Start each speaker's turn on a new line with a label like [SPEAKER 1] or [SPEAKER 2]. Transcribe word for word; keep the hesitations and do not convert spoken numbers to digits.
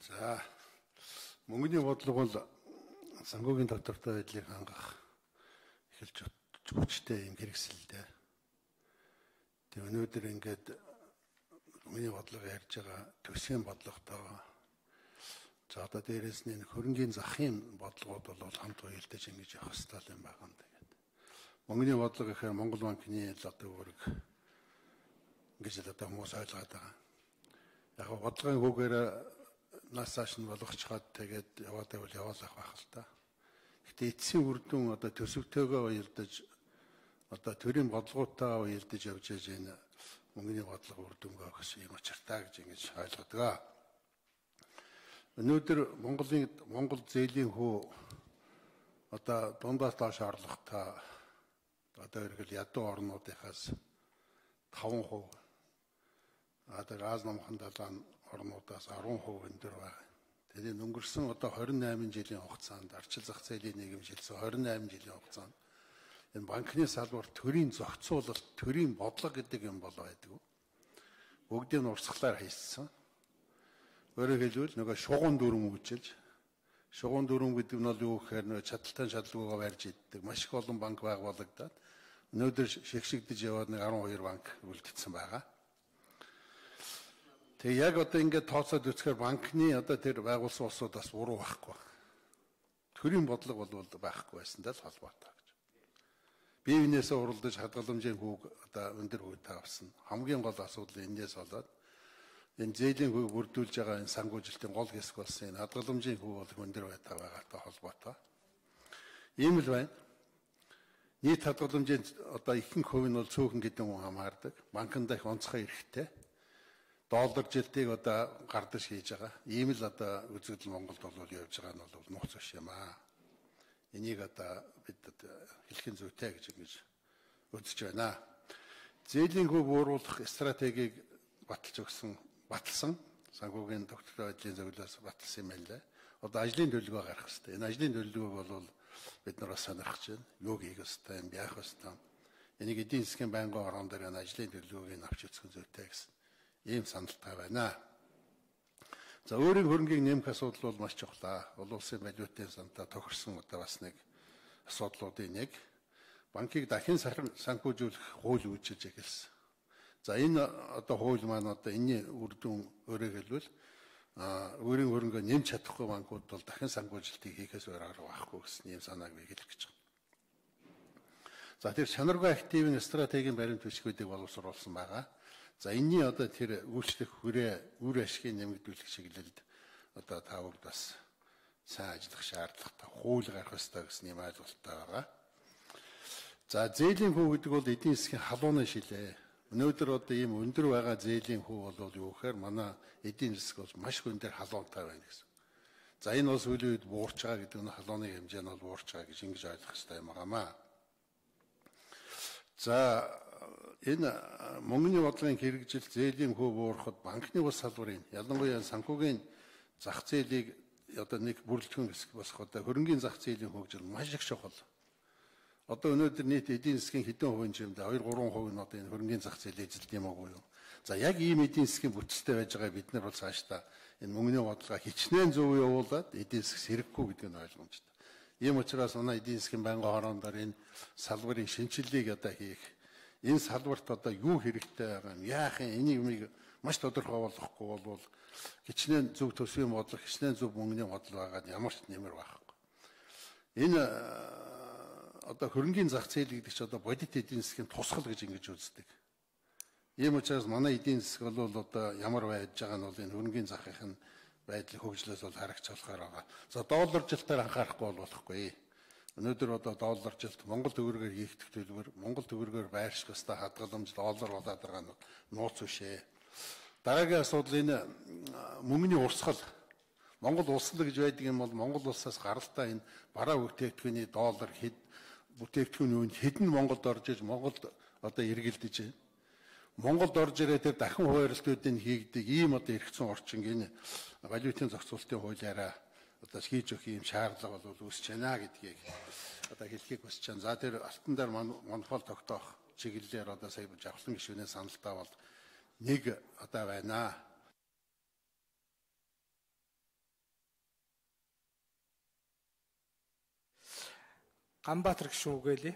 [SPEAKER 1] За мөнгөний бодлого бол санхүүгийн доктортой байдлыг хангах эхэлж хүчтэй юм хэрэгсэлтэй. Тэг өнөөдөр ингээд мөнгөний бодлого ярьж байгаа төсвийн бодлоготойгоо за одоо дээрээс нь хөрөнгийн захын бодлогууд бол хамт уялдаж ингэж явах хэрэгтэй юм байна тэгээд. Мөнгөний бодлого гэхээр Монгол банкны л одоо үүрэг ингэж л одоо хүмүүс ойлгоод байгаа. Яг бодлогын хүүгээр насааш нь болгочход тэгээд яваад байвал яваалах байх л та. Гэтэ эцсийн үр дүн одоо төсөвтэйгөө уялдаж одоо төрийн бодлоготой уялдаж явж байгаа энэ мөнгөний бодлого үр дүнгээ өгөх юм учиртай гэж ингэж ойлгодог. Өнөөдөр Монголын Монгол зээлийн хүү одоо дундаас доош орлоготой одоо ерөнхийдөө ядуу орнуудынхаас таван хувь одоо газ намхан далайн орнуудаас арван хувь өндөр байна. Тэгээд өнгөрсөн одоо хорин найман жилийн хугацаанд арчил зах зээлийн нийгэмшилсэн хорин найман жилийн хугацаанд энэ банкны салбар төрийн зохицуулалт, төрийн бодлого гэдэг юм бол байдаг. Бүгдийг нь урсгалаар хийсэн. Өөрөөр хэлбэл нөгөө шугуун дүрм үүжилж шугуун дүрм гэдэг нь бол юу гэхээр нөгөө чадaltaан шалгуугаа барьж иддэг маш их олон банк байгуулагдаад өнөөдөр шигшигдэж яваад нэг арван хоёр банк үлдсэн байгаа. Тэг яг одоо ингээд тооцоод үзэхээр банкны одоо тэр байгуулсан улсуудаас буруу байхгүй. Төрийн бодлого бол байхгүй байсантай л холбоотой гэж. Бие биенээсээ уралдаж хадгаламжийн хүүг одоо өндөр хүйтэй авсан. Хамгийн гол асуудал энэс болоод энэ зээлийн хүйг бүрдүүлж байгаа энэ санхүүжилтийн гол хэсэг болсон энэ хадгаламжийн хүү бол өндөр байгаатай холбоотой. Ийм л байна. Нийт хадгаламжийн одоо ихэнх хувь нь бол цөөхөн гэдэг хүн хамаардаг. Банкнд их онцгой эрэхтэй. Доллар жилтийг одоо гардаж хийж байгаа. Ийм л одоо үзэгдэл Монголд бол явж байгаа нь бол нууц биш юм аа. Энийг одоо бид хэлхэн зүйтэй гэж ингэж үзэж байна. Зээлийн хүү бууруулах стратегийг баталж өгсөн, баталсан санхүүгийн доктортой байдлын зөвлөлөөс баталсан юм байна лээ. Одоо ажлын төлөвлөгөө гаргах хэрэгтэй. Энэ ажлын төлөвлөгөөг бол бид нар бас сонирхож байна. Юу хийх ёстой, юм яах ёстой. Энийг эдийн засгийн байнгын орон дээр энэ ажлын төлөвлөгөөг авч үзэх зүйтэй гэсэн ийм саналтай байна. За өөрийн хөрөнгийг нэмэх асуудал бол маш чухал. Олон улсын валютын сантаа тохирсон одоо бас нэг асуудлуудын нэг. Банкыг дахин санхүүжүүлэх хууль үүсгэж эхэлсэн. За энэ одоо хууль маань одоо энэний үр дүн өөрөөр хэлбэл өөрийн хөрөнгөө нэмж чадахгүй банкуд бол дахин санхүүжилтийг хийхээс өөр арга байхгүй гэсэн ийм санааг би хэлэх гэж байна. За тэр чанаргүй активын стратегийн баримт бичгүүдийг боловсруулсан байгаа. За энэний одоо тэр үйлчлэх хүрээ үр ашгийг нэмэгдүүлэх чиглэлд одоо та бүгд бас сайн ажиллах шаардлагатай хууль гаргах ёстой гэсэн юм ойлголттой байгаа. За зээлийн хүү гэдэг бол эдийн засгийн халууны шилээ. Өнөөдөр одоо ийм өндөр байгаа зээлийн хүү бол юу гэхээр манай эдийн засаг бол маш өндөр халуунтай байна гэсэн. За энэ бол сүүлийн үед буурч байгаа гэдэг нь халууны хэмжээ нь бол буурч байгаа гэж ингэж ойлгох хэрэгтэй юм байна. За энэ мөнгөний бодлогын хэрэгжилт зээлийн хүү буурахад банкны ус салбарын ялангуяа санхүүгийн зах зээлийг одоо нэг бүрэлдэхүүн хэсэг босох одоо хөрөнгийн зах зээлийн хөгжил маш их чухал. Одоо өнөөдөр нийт эдийн засгийн хэдэн хувийн чимдээ хоёр гурван хувь нь одоо энэ хөрөнгийн зах зээл эзэлт юм уу юу? За яг ийм эдийн засгийн бүтцтэй байж байгаа бид нар бол цаашдаа энэ мөнгөний бодлогоо хичнээн зөв явуулаад эдийн засаг сэргэхгүй гэдэг нь ойлгомжтой. Ийм учраас манай эдийн засгийн байнгын хороондор энэ салбарын шинжилгээг одоо хийх энэ салбарт одоо юу хэрэгтэй байгаа юм яах юм энийг юмыг маш тодорхой болгохгүй бол хичнээн зөв төсвийн бодлого хичнээн зөв мөнгөний бодлого байгаа ямар ч нэмэр байхгүй. Энэ одоо хөрөнгийн зах зээл гэдэг чинь одоо бодит эдийн засгийн тусгал гэж ингэж үздэг. Ийм учраас манай эдийн засаг бол одоо ямар байж байгаа нь бол энэ хөрөнгийн захын байдлыг хөгжлөөс бол харагч болохоор байгаа. За доллар жилтээр анхаарахгүй бол болохгүй. Өнөөдөр одоо доллар жилт Монгол төгрөгөөр хийгдэх төлбөр Монгол төгрөгөөр байрших ёстой хадгаламж доллар болоод байгаа нь нууц биш ээ. Дараагийн асуудал энэ мөнгөний урсгал. Монгол улсал гэж байдаг юм бол Монгол улсаас гаралтай энэ бараа бүтээгдэхүүний доллар хэд бүтээгдэхүүний үнд хэдэн Монголд орж иж Монголд одоо эргэлдэж байна. Монголд орж ирээ тэр дахин хуваарлтуудыг хийгдэг ийм одоо эргэцэн орчин энэ валютын зохицуулалтын хуулиараа одоо хийж өгөх юм шаардлага бол үүсэж байна гэдгийг одоо хэлхийг хүсэж байна. За тэр алтан дээр монопол тогтоох чиглэлээр одоо сая жавхлан гишүүнээ саналтаа бол нэг одоо байна.
[SPEAKER 2] Ганбаатар гişүүн үгээлээ.